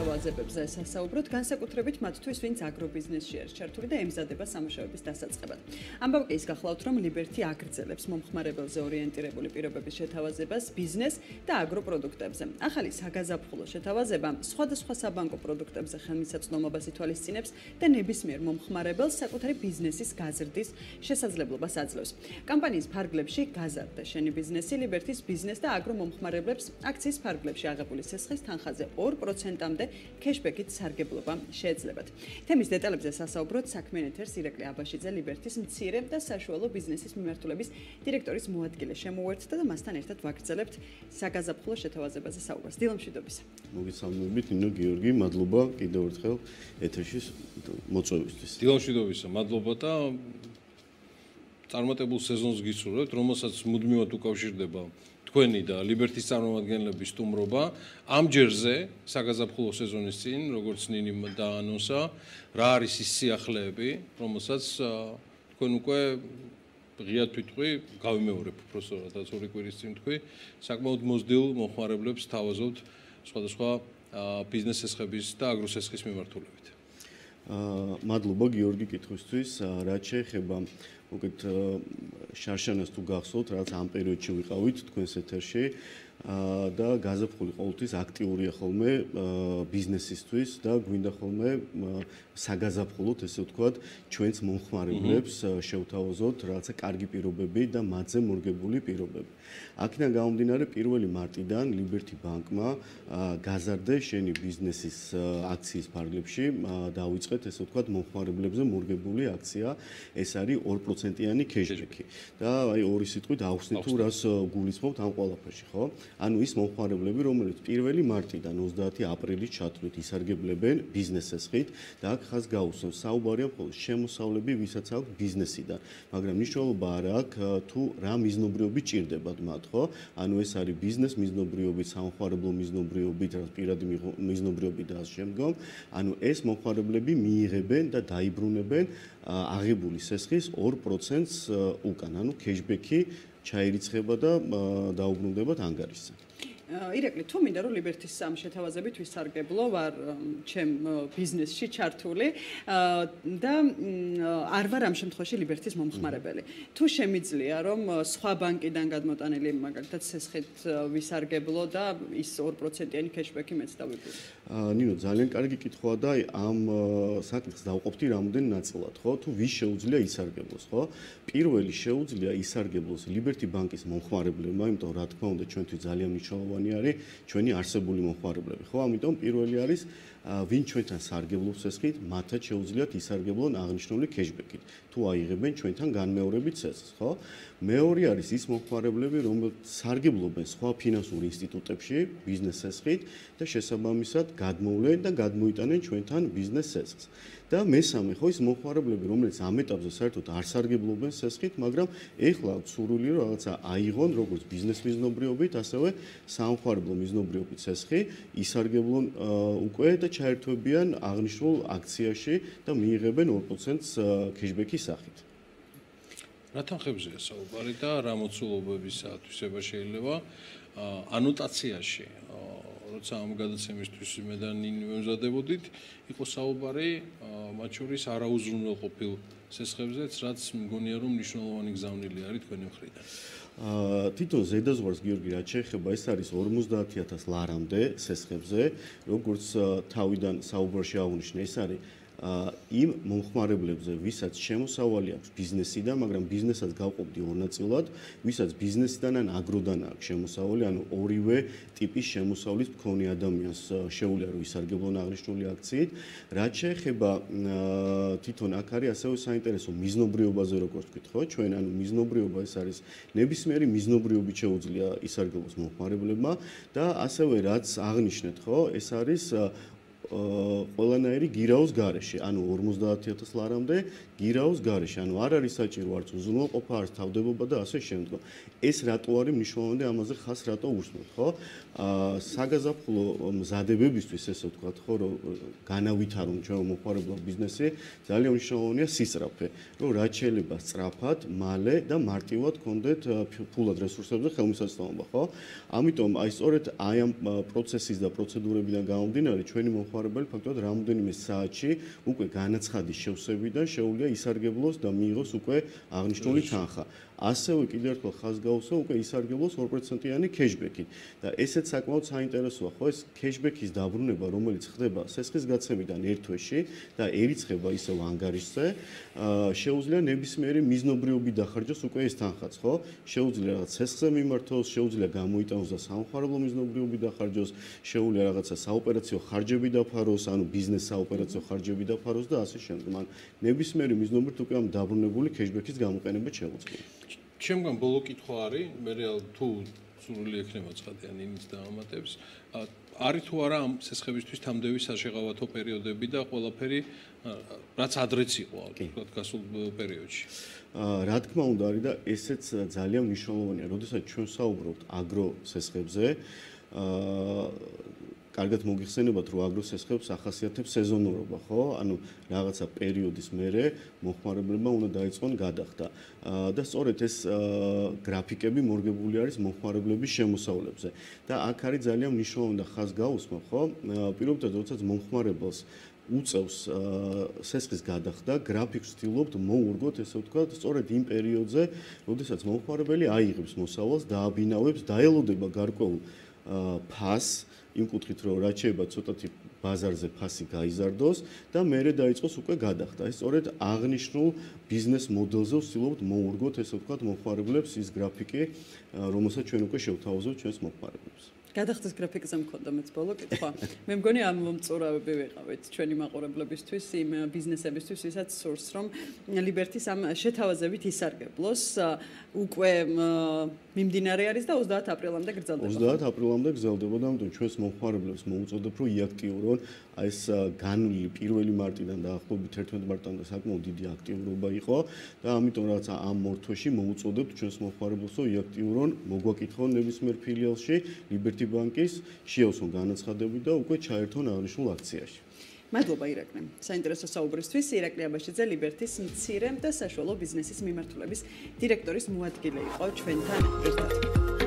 შეთავაზებებზე სასაუბროთ, განსაკუთრებით მათთვის, ვინც აგრობიზნესში არის ჩართული და ემზადება სამუშაოების დასაწყებად. ამბავ კი ის გახლავთ, რომ ლიბერთი აგრძელებს მომხმარებელზე ორიენტირებული პირობების შეთავაზებას ბიზნეს და აგროპროდუქტებზე. ახალი საგაზაფხულო შეთავაზება სხვადასხვა საბანკო პროდუქტებზე ხელმისაწვდომობას ითვალისწინებს და ნებისმიერ მომხმარებელს საკუთარი ბიზნესის გაზრდის შესაძლებლობას აძლევს. კამპანიის ფარგლებში გაზარდა შენი ბიზნესი, ლიბერთის ბიზნეს და აგრო მომხმარებლებს აქციის ფარგლებში აღებული სესხის თანხაზე 2%-მდე кэშბექით სარგებლობა შეეძლებათ. თემის დეტალებზე სასაუბროთ საქმიან ეთერს ირაკლი აბაშიძე, ლიბერთის მცირე და საშუალო ბიზნესის მიმართულების დირექტორის მოადგილე შემოუერთდა და მასთან ერთად ვაგრძელებთ საგაზაფხულო შეთავაზებაზე საუბარს. დილამშვიდობისა. მოგესალმებით, ნინო გიორგი, მადლობა კიდევ ერთხელ ეთერში მოწვევისთვის. დილამშვიდობისა, მადლობა და წარმატებულ სეზონს გისურვებთ, რომელსაც მუდმივად უკავშირდება თქვენი და ლიბერთის წარმომადგენლების სტუმრობა. ამ ჯერზე საგაზაფხულო სეზონის წინ, როგორც ნინი დაანონსა, რა არის ის სიახლეები, რომელსაც თქვენ უკვე ღიად თვითყვი გავიმეორებ უბრალოდ რაც ორი კვირის წინ თქვი, საკმაოდ მოზრდილ მომხმარებლებს თავაზობთ სხვადასხვა ბიზნეს სესხების და აგროსესხის მიმართულებით. მადლობა გიორგი კითხვისთვის, რაც შეეხება უკეთ შარშანას თუ გახსოვთ, რაც ამ პერიოდში ვიყავით თქვენს ეთერში და გაზაფხული ყოველთვის აქტიურია ხოლმე ბიზნესისთვის და გვინდა ხოლმე საგაზაფხულოთ, ესე ვთქვათ, ჩვენს მომხმარებლებს შევთავაზოთ რაღაცა კარგი პირობები და მათზე მორგებული პირობები. აქედან გამომდინარე 1 მარტიდან ლიბერთი ბანკმა გაზარდა შენი ბიზნესის აქციის ფარგლებში დაუწყეთ, ესე ვთქვათ, მომხმარებლებზე მორგებული აქცია, ეს არის 2%-იანი кэშბექი. და აი ორი სიტყვით ახსნით თუ რას გულისხმობთ ამ ყველაფერში, ხო? ანუ ის მომხმარებლები, რომელიც 1 მარტიდან 30 აპრილის ჩათვლით ისარგებლებენ ბიზნეს სესხით და აქ ხაზ გაუსვენ საუბარია მხოლოდ შემოსავლები, ვისაც აქვს ბიზნესიდან, მაგრამ მნიშვნელობა არ აქვს თუ რა მიზნობრიობით ჭირდებათ მათ, ხო? ანუ ეს არის ბიზნეს მიზნობრიობით, სამხმარებლო მიზნობრიობით, რაც პირადი მიზნობრიობით და ამ შემდგომ, ანუ ეს მომხმარებლები მიიღებენ და დაიბრუნებენ აღებული სესხის 2%-ს უკან, ანუ кэშბექი ჩაირიცხება და დაუბრუნდებათ ანგარიშზე. ირაკლი, თუ მინდა რომ ლიბერთის ამ შეთავაზებით ვისარგებლო, ვარ ჩემ ბიზნესში ჩართული და არ ვარ ამ შემთხვევაში ლიბერთის მომხმარებელი. თუ შემიძლია რომ სხვა ბანკიდან გადმოტანილი მაგალითად სესხით ვისარგებლო და ის 2%-იანი кэშბექი მეც დავიბრუნო. ნინო, ძალიან კარგი კითხვაა და ამ საკითხს დავყოფთი რამოდენ ნაწილად, ხო? თუ ვის შეუძლია ისარგებლოს, ხო? პირველი შეუძლია ისარგებლოს ლიბერთი ბანკის მომხმარებლებმა, იმიტომ რა თქმა უნდა ჩვენთვის ძალიან მნიშვნელოვანი არის ჩვენი არსებული მომხმარებლები, ხო? ამიტომ პირველი არის ვინ ჩვენთან სარგებლობს სესხით, მათაც შეუძლიათ ისარგებლონ აღნიშნული кэშბექით, თუ აიღებენ ჩვენთან განმეორებით სესხს, ხო? მეორე არის ის მომხმარებლები, რომლებიც სარგებლობენ სხვა ფინანსურ ინსტიტუტებში ბიზნეს სესხით და შესაბამისად გადმოვლენ და გადმოიტანენ ჩვენთან ბიზნეს სესხს. და მესამე ხო ის მომხმარებლები, რომლებიც ამ ეტაპზე საერთოდ არ სარგებლობენ სესხით, მაგრამ ეხლა აქვს სურვილი რომ რაღაცა აიღონ როგორც ბიზნეს მიზნობრიობით, ასევე სამხმარებლო მიზნობრიობით სესხი, ისარგებლონ უკვე და ჩაერთვებიან აღნიშნულ აქციაში და მიიღებენ 2%-ს кэშბექის სახით. რა თანხებზეა საუბარი და რა მოცულობების ათვისება შეიძლება ანოტაციაში როცა ამ გადაცემისთვის მე და ნინი მემზადებოდით, იყო საუბარი მათ შორის არაუზრუნველყოფილ სესხებზეც, რაც მგონია რომ მნიშვნელოვანი გზავნილი არის თქვენი მხრიდან. თვითონ ზედაზღვარს გიორგი რაც შეეხება, ეს არის 50,000 ლარამდე სესხებზე, როგორც თავიდან საუბარში აღნიშნე, ეს არის იმ მომხმარებლებზე, ვისაც შემოსავალი აქვს ბიზნესიდან, მაგრამ ბიზნესაც გავყოფდი ორ ნაწილად, ვისაც ბიზნესიდან ან აგროდან აქვს შემოსავალი, ანუ ორივე ტიპის შემოსავლის მქონე ადამიანს შეუძლია რომ ისარგებლონ აღნიშნული აქციით. რაც შეეხება თვითონ აქ არის ასევე საინტერესო მიზნობრიობაზე, როგორც ვთქვით, ხო? ჩვენ ანუ მიზნობრიობა ეს არის ნებისმიერი მიზნობრიობით შეუძლია ისარგებლოს მომხმარებლებმა და ასევე რაც აღნიშნეთ, ხო? ეს არის ყველანაირი გირაოს გარეშე, ანუ 50,000 ლარამდე გირაოს გარეშე, ანუ არ არის საჭირო არც უზრუნველყოფა, არც თავდებობა და ასე შემდგომ. ეს რატო არის მნიშვნელოვანი, ამაზე ხას რატო უსმოთ, ხო? საგაზაფხულო მზადებებისთვის, ესე ვთქვათ, ხო, რომ განავითარონ ჩვენ მომხმარებლო ბიზნესი, ძალიან მნიშვნელოვანია სისწრაფე, რომ რაც შეიძლება სწრაფად, მალე და მარტივად გქონდეთ ფულად რესურსებზე ხელმისაწვდომობა, ხო? ამიტომ აი სწორედ აი ამ პროცესის და პროცედურებიდან გამომდინარე, ჩვენი მომხმარებელი ფაქტობრივად რამოდენიმე საათში უკვე განაცხადის შევსებიდან შეუძლია ისარგებლოს და მიიღოს უკვე აღნიშნული თანხა. ასევე კიდევ ერთხელ ხაზს გაუსვა უკვე ისარგებლოს 2%-იანი cashback-ით და ესეც საკმაოდ საინტერესოა, ხო, ეს cashback-ის დაბრუნება, რომელიც ხდება სესხის გაცემიდან ერთ თვეში და ერიცხება ისევ ანგარიშზე, შეუძლია ნებისმიერი მიზნობრიობი დახარჯოს უკვე ეს თანხაც, ხო? შეუძლია რაღაც სესხზე მიმართოს, შეუძლია გამოიტანოს და სამხმარებლო მიზნობრიობი დახარჯოს, შეუძლია რაღაცა საოპერაციო ხარჯები დაფაროს, ანუ ბიზნეს საოპერაციო ხარჯები დაფაროს და ასე შემდეგ. ან ნებისმიერი მიზნობრით უკვე ამ დაბრუნებული cashback-ის გამოყენება შეუძლია. ჩემგან ბოლო კითხვა არის, მე თუ სურვილი ექნება ცხადიან იმის დაამატებს, არის თუ არა ამ სესხებისთვის თამდევი საშეღავათო პერიოდები და ყველაფერი რაც ადრეც იყო, თქვათ, გასულ პერიოდში. რა თქმა უნდა არის და ესეც ძალიან მნიშვნელოვანია, როდესაც ჩვენ საუბრობთ აგრო სესხებზე, კარგად მოგიხსენებათ, რომ აგრო სესხებს ახასიათებს სეზონურობა, ხო? ანუ რაღაცა პერიოდის მერე მომხმარებლებმა უნდა დაიწყონ გადახდა. და სწორედ ეს გრაფიკები მორგებული არის მომხმარებლების შემოსავლებზე. და აქ არის ძალიან მნიშვნელოვანი და ხაზს გაუსმა, ხო? პირობითად, როდესაც მომხმარებელს უწევს სესხის გადახდა, გრაფიკს ვცდილობთ მოურგოთ, ესე ვთქვათ, სწორედ იმ პერიოდზე, როდესაც მომხმარებელი აიღებს მოსავალს, დააბინავებს, დაელოდება გარკვეულ ფასს, იმ კუთხით, რომ რაც შეიძლება ცოტათი ბაზარზე ფასი გაიზარდოს და მერე დაიწყოს უკვე გადახდა. ეს სწორედ აღნიშნულ ბიზნეს მოდელზე ვცდილობთ მოურგოთ, ესე ვთქვათ, მომხმარებლებს ის გრაფიკი, რომელსაც ჩვენ უკვე შევთავაზებთ ჩვენს მომხმარებლებს. გადახდის გრაფიკზე მქონდა მეც ბოლო კითხვა. მე მგონი ამ მომწურავები ვიყავით ჩვენი მაყურებლებისთვის, იმ ბიზნესებისთვის, ვისაც სურს, რომ ლიბერთის ამ შეთავაზებით ისარგებლოს. უკვე მიმდინარე არის და 30 აპრილამდე გრძელდება. 30 აპრილამდე გრძელდება და ამიტომ ჩვენს მომხმარებლებს მოუწოდებ, რომ იაქტიურონ ეს განვლილი 1 მარტიდან დაახლოებით 11 მარტამდე საკმაოდ დიდი აქტიურობა იყო და ამიტომ რაც ამ მორთვეში მოუწოდებთ ჩვენს მომხმარებლებს, რომ იაქტიურონ, მოგვაკითხონ ნებისმიერ ფილიალში ლიბერთი ბანკის, შეავსონ განაცხადები და უკვე ჩაერთონ აღნიშნულ აქციაში. მადლობა ირაკლი. საინტერესო საუბრისთვის ირაკლი აბაშიძე ლიბერთის მცირე და საშუალო ბიზნესის მიმართულების დირექტორის მოადგილე იყო ჩვენთან ერთად.